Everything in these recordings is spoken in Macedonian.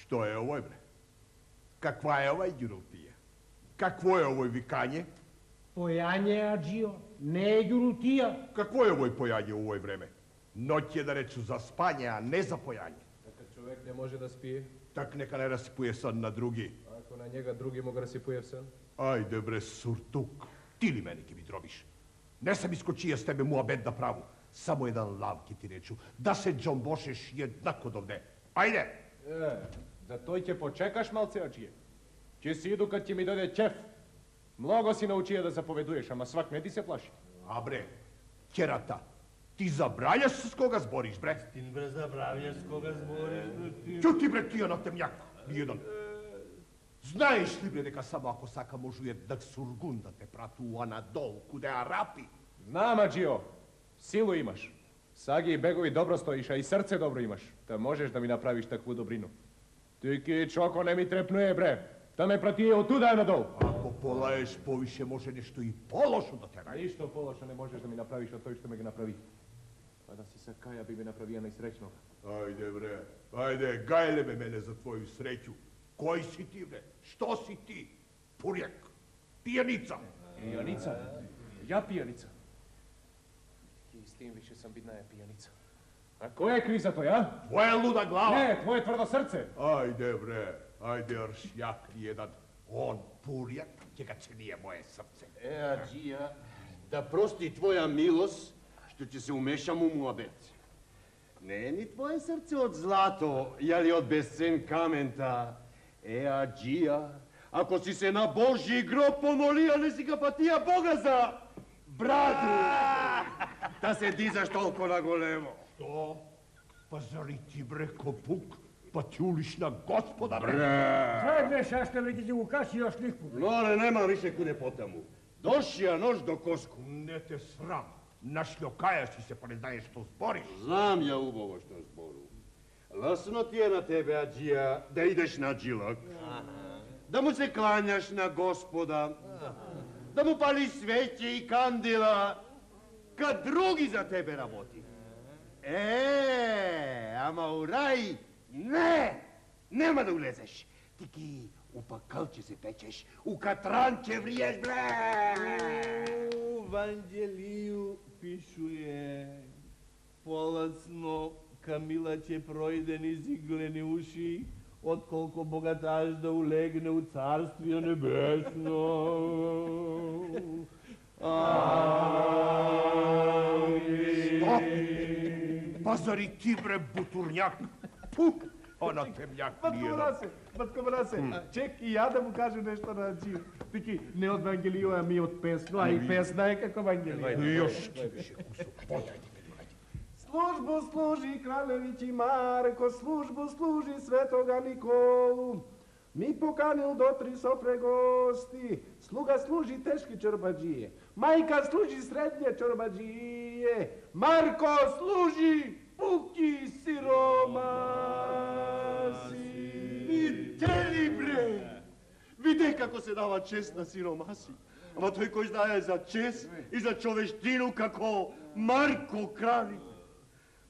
Што е овој, бре? Каква е овај ѓурултија? Какво е овој викање? Појање, аджио, не е ѓурултија. Какво е овој појање у овој време? Ноќ е да речу за спање, а не за појање. Така човек не може да спие. Так нека не расипуе сон на други. Ако на njega други му го расипуе сон. Ајде бре, суртук, ти ли мене ќе ми дробиш? Не сам искочија с тебе муабет да праву. Само еден лав ќе ти речу, да се џомбошеш еднако довде. Ајде! За тој ќе почекаш малце, аджие. Ќе си иду кад ќе ми дојде ќеф. Много си научија да заповедуеш, ама свак не ти се плаши. А бре, керата, ти забравяш с кога збориш, бре? Ти бре забравяш с кога збориш, бре ти. Чути бре тија на темјак, ниједен. Знаеш ли бре дека само ако сака можуе да сургун да те прату у Анадол, куде Арапи? Знам, аджио, силу имаш. Саги и бегови добро стоиш, а и срце добро имаш. Та можеш да ми направиш такву добрину. Тики чоко не ми трепнуе, бре. Та ме пратие од туда надол. Ако полаеш повише, може нешто и полошо да те ради. Ништо полошо не можеш да ми направиш од тој што ме ги направи. Па да си се каја би ме направија најсреќно. Ајде бре, ајде, гајле ме мене за твоју среќу. Кој си ти бре? Што си ти? Пурјак, пијаница. Пијаница? Ја пијаница? И с тим више сам бидна пијаница. А кој е криv за тој, а? Твоја луда глава. Не, твое тврдо срце. Ајде бре, ајде аршјак jedan. Он пурјак ќе га ценија моje срце. Аджија, да прости твоја милост, што ќе се умешам у муабет. Не е ни твое срце од злато, јали од безцен камента. Аджија, ако си се на Божји гроб помолија, не си га патија Бога за браду. Да се дизаш толку на големо. Што? Па зари ти бре копук? Па ти улиш на Господа бре? Знај бре, шаште веќе ќе го каши још никпу. Лоре, нема више куде потаму. Дошија нож до коску. Не те срам. Нашлјокајаш и се па не знаеш што збориш. Знам ја убаво што збору. Ласно ти е на тебе, аджија, да идеш на джилак. Да му се клањаш на Господа. Да му палиш свеќе и кандила. Кад други за тебе работи. Ама у рај, не! Нема да улезеш. Ти ки у пакалче се печеш, у катранче вриеш, бре! У Ванđелiju пишуе, поласно Камила ќе пројде низ иглени уши, отколку богаташ да улегне у Царствие небесно. Амин. Па зари ти бре бутурњак? Пук! Она темјак ниједен. Батко Мрасе, чек и ја да му кажем нешто на Аджио. Тики, не од Вангелио, а ми од песно, а и песна е како Вангелио. И још ти беше кусок. Службу служи Кралевич и Марко, службу служи Светога Николу. Ми поканил до 3 софре гости, слуга служи тешки чорбаджије, мајка служи средње чорбаджије, Марко служи пуки сиромаси. Видели, бре! Виде како се дава чест на сиромаси. Ама тој кој знае за чест и за човештину како Марко Кралевич.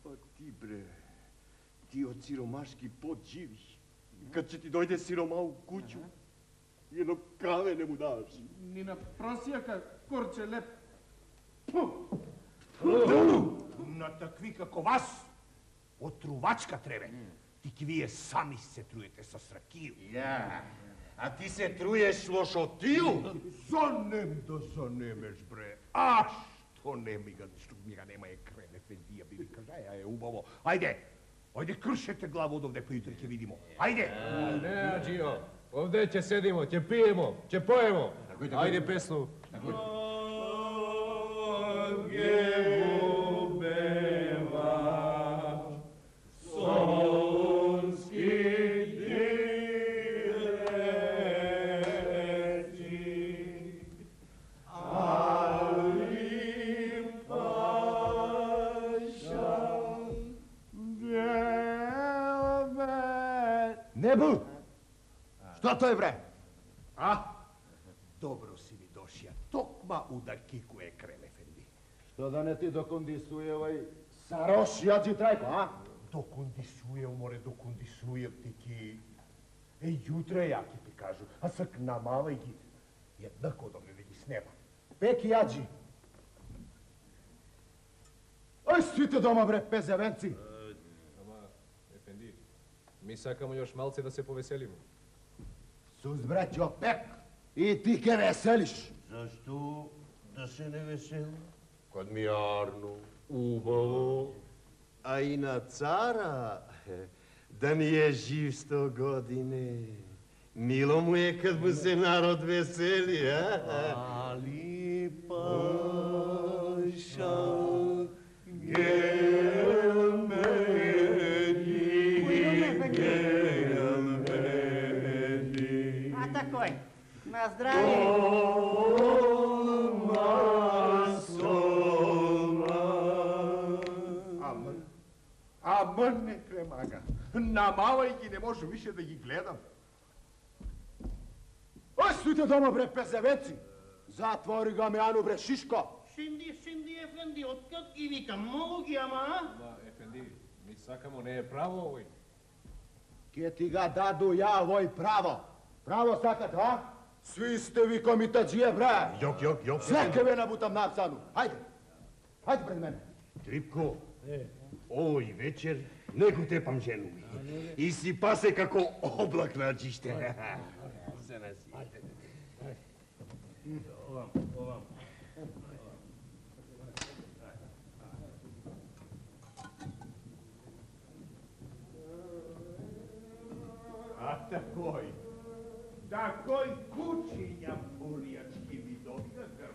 Па ти, бре, ти од сиромашки пот живиш. Кад ќе ти дојде сирома у куќу, едно краве не му даваш. Ни на просијака корче леп. На такви како вас, отрувачка требе. Ти вие сами се труете со сракију. Ја, а ти се труеш лошотију? Занем да занемеш, бре. А што не ми га нема е крем ефендија, би ви кажа, е убаво. Ајде, ајде кршете глава одовде, па јутре ќе видимо. Ајде! Не, аджио, овде ќе седимо, ќе пиемо, ќе поемо. Ајде песну. Небу! Што тој, бре? А? Добро си ми дошија. Токма удар кикуе крем ефенди. Што да не ти докондисуе овај Сарош, јаджи трајко, а? Докондисујам, море, докондисујам ти ки... Jutro ja ti kažu, a sak namala ги. Jednako dobro da gi snema. Peki jađi. Aj, svite doma, bre, pezevенци. Ама, Ефенди, ми сакамо још малце да се повеселиме. Сус, браќо, пек. И ти ке веселиш. Зашто да се не веселам? Кад ми арно, убаво, а и на цара да ни е жив 100 години. Мило му е кад му се народ весели, а? Ali paša А такой, на здравие. Ама не кремага. Намалај ги, не може више да ги гледам. Aj, svite doma, bre, pezevенци. Затвори ga, Меану, бре, Шишко. Шинди, Ефенди, откак ги викам, многу ги, ама, а? Ама, Ефенди, ми сакамо не е право овој. Ке ти ga даду ја овој право. Право сакат, а? Сви сте ви комитаджije, бре. Јок. Sve ке ве набутам на апсану. Хајде. Хајде пред мене. Трипко, овој вечер не го тепам жену ми. И си пасе како облак на чиште. Се наси. A takoj kućinja purijački mi događam.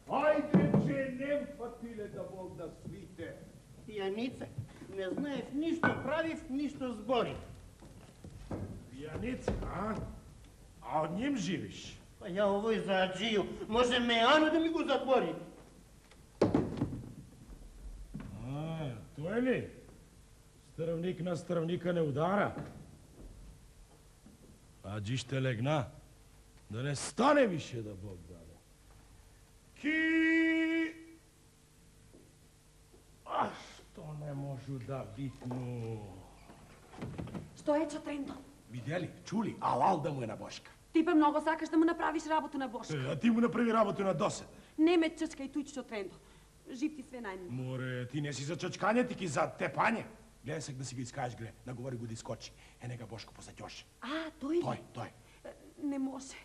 Ajde, че не фатиле да Бог да свите. Пијаница, не знаев ништо правив, ништо зборив. Пијаница, а? А од ним живиш? Па ја овој за аджiju, може Меану да ми го затвори. А, тој ли? Стрвник на стрвника не удара. Аджи ще легна, да не стане више да Бог даде. Ки... А што не можу да битну? Што е Чотрендо? Видели, чули, алал да му е на Бошка. Ти па многу сакаш да му направиш работу на Бошка. А ти му направи работу на доседа. Не ме чачкај туј Чотрендо. Жив ти све најмило. Море, ти не си за чачкање, ти ки за тепање. Гледај се да си го искажеш, гледа, наговори го да искочи. Нека Бошко позаѓоше. А, тој ли? Тој. Не може.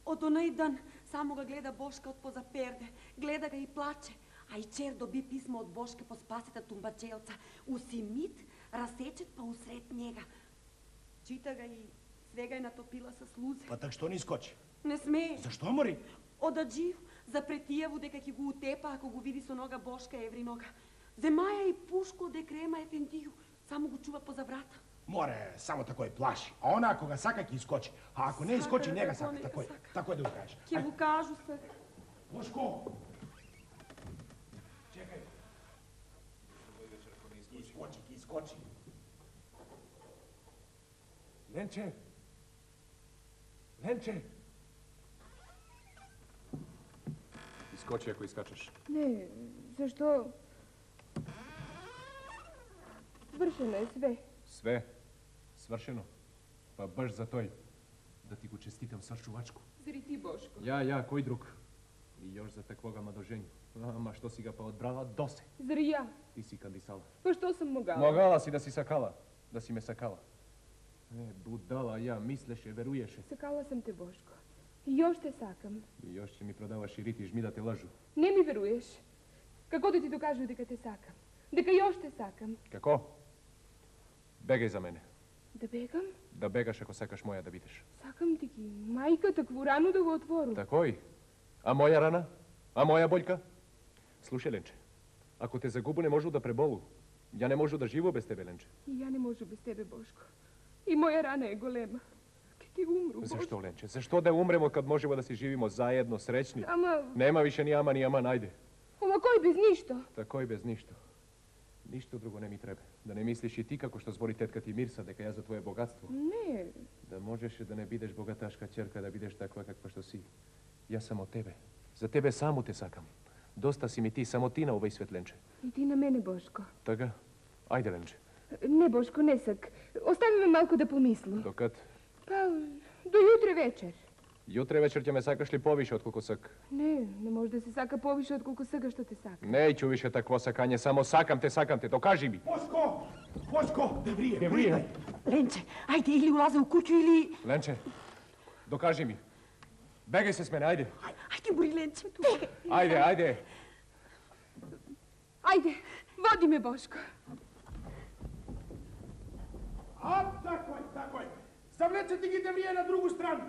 Од онај дан само го гледа Бошка од поза перде. Гледа га и плаче. А и чер доби писмо од Бошка по спасета тумбачелца. Усимит, расечет па усред njega. Чита га и свега е натопила со слузе. Па так што не искочи? Не смее. Зашто, мори? Од аджив запретијаву дека ќе го утепа ако го види со нога Бошка евринога. Земаја и пушко де крема Ефендију, само го чува поза врата. Море, само такој плаши. А она ако га сака ќе искочи. А ако не искочи, не га сака. Такој да го кажеш. Ќе го кажу сега. Бошко! Чекај. Ќе искочи. Ленче! Искочи ако искачаш. Не, зашто? Свршено е све. Све свршено. Па баш за тој да ти го честитам свршувачко. Зари ти, Бошко? Ја, кој друг? И још за таквога мадожење. Ама што си га па одбрала досе. Зари ја? Ти си кандисала. Па што сум могала? Могала си да си сакала. Да си ме сакала. Будала ја, мислеше, веруеше. Сакала сам те, Бошко. И још те сакам. И још ќе ми продаваш и рити жми да те лажу. Не ми веруеш. Како да ти докажу дека те сакам? Дека још те сакам? Како? Бегај за мене. Да бегам? Да бегаш ако сакаш моја да бидеш. Сакам ти ги. Мајка, такву рану да го отвору. Такој? А моја рана? А моја бољка? Слушај, Ленче, ако те загубу не можу да преболу. Ја не можу да живо без тебе, Ленче. И ја не можу без тебе, Бошко. И моја рана е голема. Ке ти умру, Бошко. Зашто, Ленче? Зашто да умремо кад можеме да си живимо заедно, среќни? Ама... Нема више ни ама, најде. Ама кој без ништо? Такој без ништо. Ништо друго не ми треба. Да не мислиш и ти како што збори тетка ти Мирса, дека ја за твое богатство. Не. Да можеше да не бидеш богаташка ќерка, да бидеш таква каква што си. Јас само тебе. За тебе само те сакам. Доста си ми ти, само ти на овој свет, Ленче. И ти на мене, Бошко. Така? Ајде, Ленче. Не, Бошко, не сак. Остави ме малку да помислам. Докад Па, до jutре вечер. Jutре вечер ќе ме сакаш ли повише отколку сак? Не може да се сака повише отколку сакаш што те сака. Неќу више такво сакање, само сакам те, докажи ми. Бошко, Деврие. Ленче, ајде, или улазе у куќу, или... Ленче, докажи ми. Бегај се с мене, ајде. Ајде, бури, Ленче, бегај. Ајде. Ајде, води ме, Бошко. Тако е. Завлечете ги Деврие на другу страну.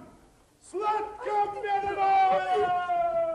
Сладка пенева!